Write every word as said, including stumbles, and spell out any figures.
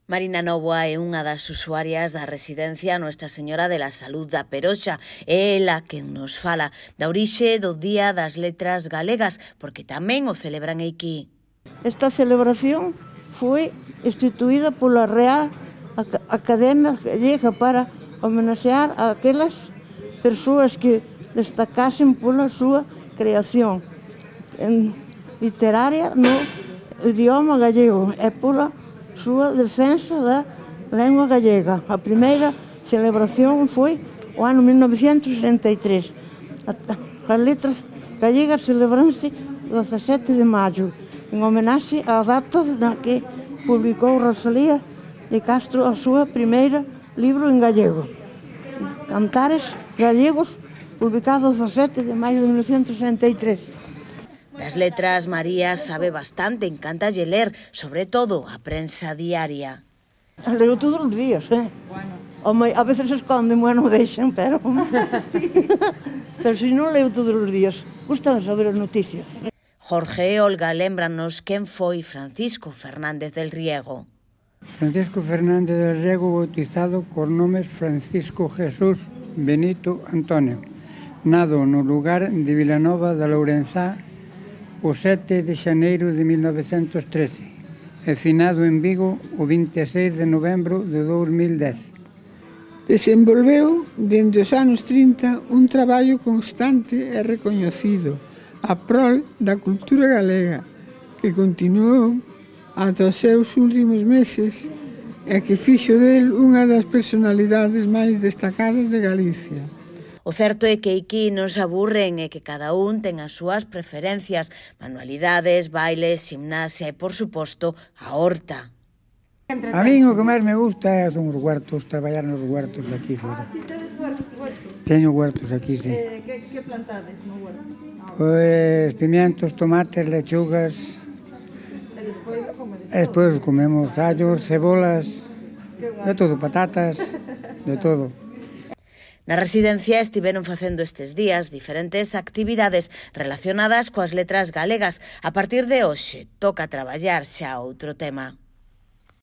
Marina Novoa é unha das usuarias da residencia Nuestra Señora de la Salud da Peroxa. É ela que nos fala da orixe do Día das Letras Galegas, porque tamén o celebran aquí. Esta celebración foi instituída pola Real Academia Gallega para homenaxear a aquelas persoas que destacasen pola súa creación en literaria no idioma gallego e pola súa defensa da lengua gallega. A primeira celebración foi o ano mil novecentos e sesenta e tres. As letras gallegas celebranse o dezasete de maio, en homenaxe á data na que publicou Rosalía de Castro a súa primeira libro en gallego, Cantares Gallegos, publicado o dezasete de maio de mil novecentos e sesenta e tres. Das letras, María sabe bastante, encántalle ler, sobre todo a prensa diaria. Leo todos os días, eh? Bueno. A veces se esconden, bueno, deixan, pero... sí. Pero si non leo todos os días, gustan saber as noticias. Jorge e Olga lémbranos quen foi Francisco Fernández del Riego. Francisco Fernández del Riego, bautizado cos nomes Francisco Jesús Benito Antonio, nado no lugar de Vilanova da Lourenzá o sete de xaneiro de mil novecentos trece e finado en Vigo o vinte e seis de novembro de dous mil dez. Desenvolveu dende os anos trinta un traballo constante e recoñecido a prol da cultura galega, que continuou ata os seus últimos meses e que fixo del unha das personalidades máis destacadas de Galicia. O certo é que aquí non se aburren e que cada un ten as súas preferencias, manualidades, bailes, gimnasia e, por suposto, a horta. A min o que máis me gusta son os huertos, traballar nos huertos aquí fora. Ah, si tedes huertos? Teño huertos aquí, sí. Eh, que, que plantades no huerto? Pois pimientos, tomates, lechugas. E despois comedes todo? E despois comemos allos, cebolas, de todo, patatas, de todo. Na residencia estiveron facendo estes días diferentes actividades relacionadas coas letras galegas. A partir de hoxe toca traballar xa outro tema.